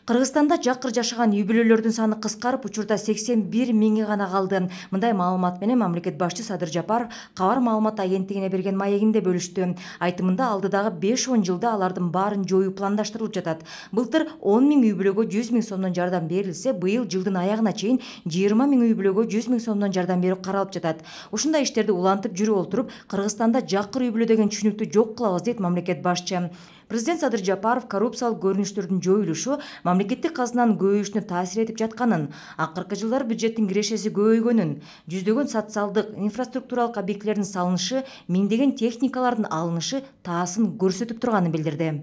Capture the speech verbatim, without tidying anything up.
Кыргызстанда жакыр жашаган үй-бүлөлөрдүн саны кыскарып, учурда сексен бир миңи гана калды. Мындай маалымат менен мамлекет башчысы Садыр Жапаров кабар маалымат агенттигине берген маегинде бөлүштү. Айтымында алдыдагы беш он жылда алардын баарын жоюу пландаштырылып жатат. Былтыр он миң үй-бүлөгө жүз миң сомдон жардам берилсе, быйыл жылдын аягына чейин жыйырма миң үй-бүлөгө жүз миң сомдон жардам берүү каралып жатат. Ушундай иштерди улантып жүрүп олтуруп, Кыргызстанда жакыр үй-бүлө деген түшүнүктү жок кылабыз, дейт мамлекет башчы. Президент Садыр Жапаров коррупциялык көрүнүштөрдүн жоюлушу мамлекеттик казынанын көбөйүшүнө таасир этип жатканын, акыркы жылдары бюджеттин кирешеси көбөйгөнүн, жүздөгөн социалдык, инфраструктуралык объектилердин салынышы, миңдеген техникалардын алынышы таасын көрсөтүп турганын билдирди.